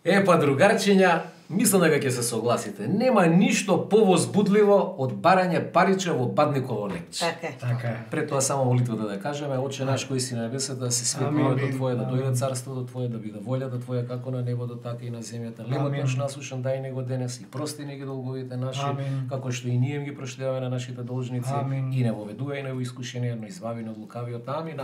Па другарчиња, мислам дека ќе се согласите. Нема ништо повозбудливо од барање париче во бадниково лекче. Така е. Пред тоа само молитвата да кажеме: Отче наш кој си на небесата, да се свети името Твое, да дојде царството Твое, да биде волјата Твоја како на небото, така и на земјата. Хлебот наш насушен дај него денес и прости ни ги долговите наши, како што и ние ги проштеваме на нашите должници, и не воведувај ни во искушение, но избави ни од лукавиот. Амин.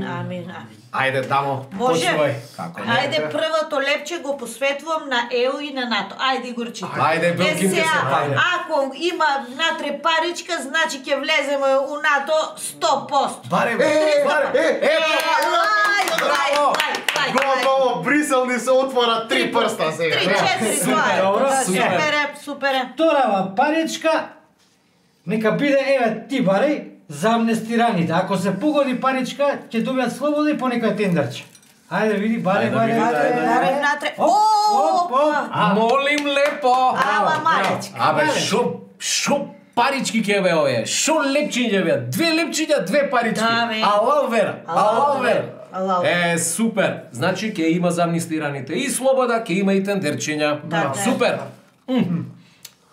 Амин. Ајде, дамо, Може? почнувај. Како не? Ајде, првото лепче го посветувам на ЕУ и на НАТО. Ајде, Игорче. Ајде, Белкин, ќе се падне. Ако има натре паричка, значи ќе влеземе у НАТО 100%. Баре, Готово, Брисел ни се отвора 3 прста сега. 3-4, това е. Супер е. Вторава паричка, нека биде, еве, ти бареј, за амнестираните. Ако се погоди паричка, ќе добијат слобода и по некој тендерче. Ајде, види, бареј. Бареј натре. молим лепо. Ама малечка. Абе, шо парички ќе бе овие? Шо лепчиња бе? 2 лепчиња, 2 парички. Да, бе. Алал вера. Алал. Супер. Значи ќе има за амнистираните и слобода, ќе има и тендерчиња. Да. Супер.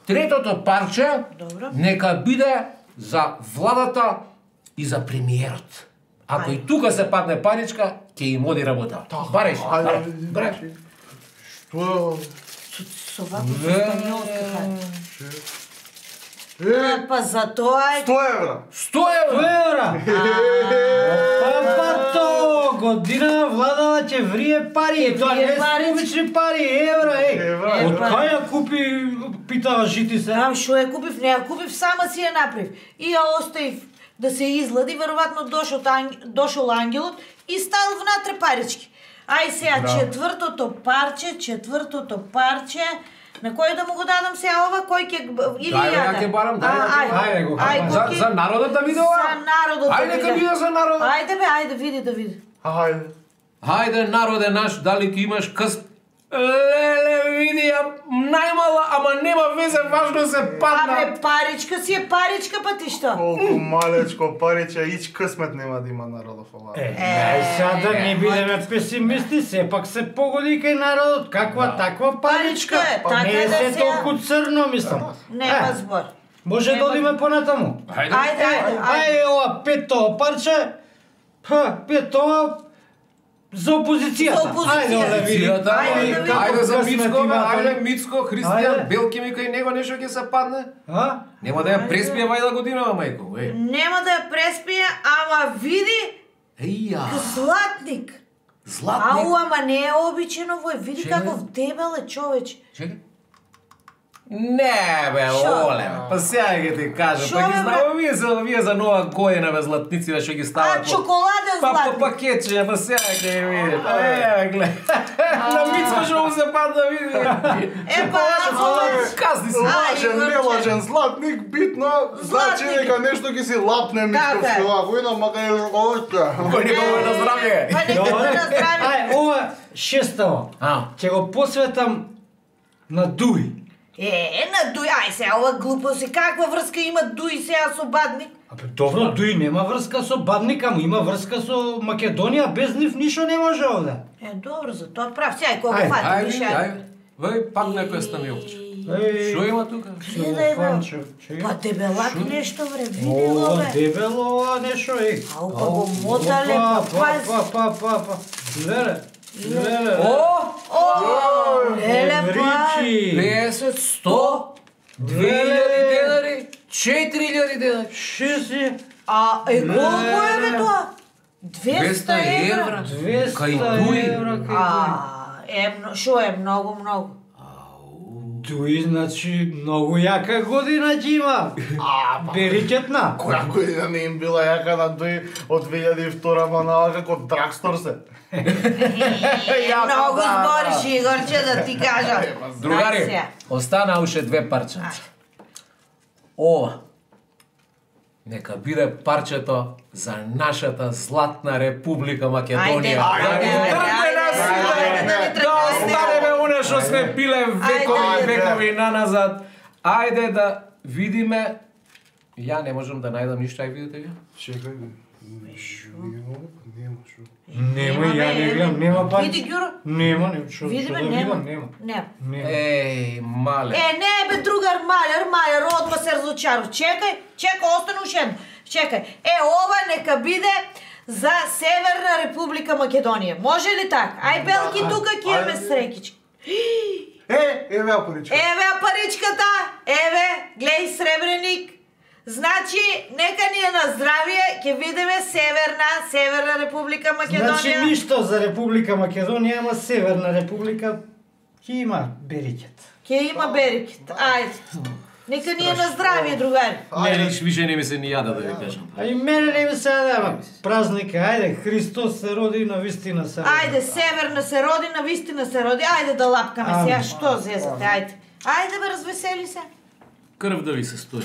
Третото парче, Добро. нека биде за владата и за премиерот. Ако и тука се падне паричка, ќе им оди работа. Бареш. Што? Со вако шпањолска. Па за тоа е 100 евра. 100 евра. Папато, година владава ќе врие пари, Ќе тоа врие не пари. се обични пари, евра, Евра. Од кај ја купи, питава жити се? Знам што ја купив, не ја купив, сама си ја направив. И ја оставив да се излади, веројатно дошол ангелот и ставил внатре парички. Ај сега четвртото парче, на кој да му го дадам сега ова, кој ќе или Дај, ја ја ќе барам, дај. Ајде го. За народот да биде ова? За народот да Ајде, нека биде за народот. Ајде бе, ајде, види. Ајде. Хајде, народе наш, дали ќе имаш къс... Леле, види ја, најмала, ама нема везе, важно се падна. Абе, паричка си е паричка, па ти што? Колку малечко париче, ич късмет нема да има народов ова. Сега да не бидеме песимисти, сепак се погоди кај народот, каква таква паричка. Паричка е, така Не е да се се- толку црно, мислам. Нема збор. Може да одиме понатаму. Ајде ова пето парче, пето за опозицијата. За опозицијата. Ајде да види. Ајде за Мицко, ајде Мицко, Христијан, Ајде. Белки ми кај него нешто ќе се падне. А? Нема да ја преспие вајда годинава, мајко. Нема да ја преспие, ама види Еја, златник. златник. Ама не е обичен овој, види Чекај. каков дебел е човеч. Чекај. Не бе, Шо? оле, па сега ќе ти кажам, Шо, па ги бе, знamo вие за нова година бе златници што ги стават. А, чоколаден Па по златник. пакетче, па сега ќе ги видите. Гледа. На Мицко што му се падна, види. Епа, ова... Казни се. Лажен, Игорче. нелажен, златник, битно, значи Златник. нека нешто ги си лапне Мичковски Така. ова година, мака е още. Кој никога на здравје. Па нека Добре. да здрави. Ај, ова шеставо. Ќе го посветам на Дуи. На Дуј, ај сега, ова глупост е, каква врска има Дуј сега со Бадник? Абе, добро, Дуи нема врска со Бадник, ама има врска со Македонија, без нив ништо не може овде. Добро, за тоа прав. Сега, кога Ајде, го фати, Ајде, више. ајде. Вај пак некој станилче. Што има тука? Гледај, бе. Па дебелак нешто, вре, види го, О, бе. дебело ова нешто, Ау, па го мотале, па пази. Леле. Леле, па. Евричи. 50, 100, 2000 денари, 4000 денари. Шеси. Колко е, бе, тоа? 200 евра. 200 Кај Дуи. евра кај Дуи. Шо е многу. Дуи, значи, многу јака година ќе има. Берикетна. Која година не им била јака на Дуи од 2002 манала како Драгстор се. Многу збориш, Игорче, да ти кажам. Другари, остана уште 2 парче. Ова. Нека биде парчето за нашата златна република Македонија. Да останеме оне што сме пиле векови наназад. Ајде да видиме. Ја не можам да најдам ништо, ај видите ви. Чекај. Нема, ја не гледам, нема пари. Види Ѓуро? Нема, не што. Види бе, нема. Нема. Еј, мале. Не бе, другар, малер, одма се разочаров. Чекај, остане уште едно. Чекај. Ова нека биде за Северна Република Македонија. Може ли така? Ај, Белки, тука ќе имаме срекички. Еве паричка. Еве паричката. Еве, глеј сребреник. Значи, нека ни е на здравие, ќе видиме Северна Република Македонија. Значи ништо за Република Македонија, ама Северна Република ќе има берикет. Ќе има берикет. Ајде. Нека ни е на здравие, другари. Не, више не ми се ни јада да ви кажам. А и мене не ми се јада, празника, ајде, Христос се роди, на вистина се роди. Ајде, Северна се роди, на вистина се роди. Ајде да лапкаме сега, што зезате, ајде. Ајде бе, развесели се. Крв да ви се стои.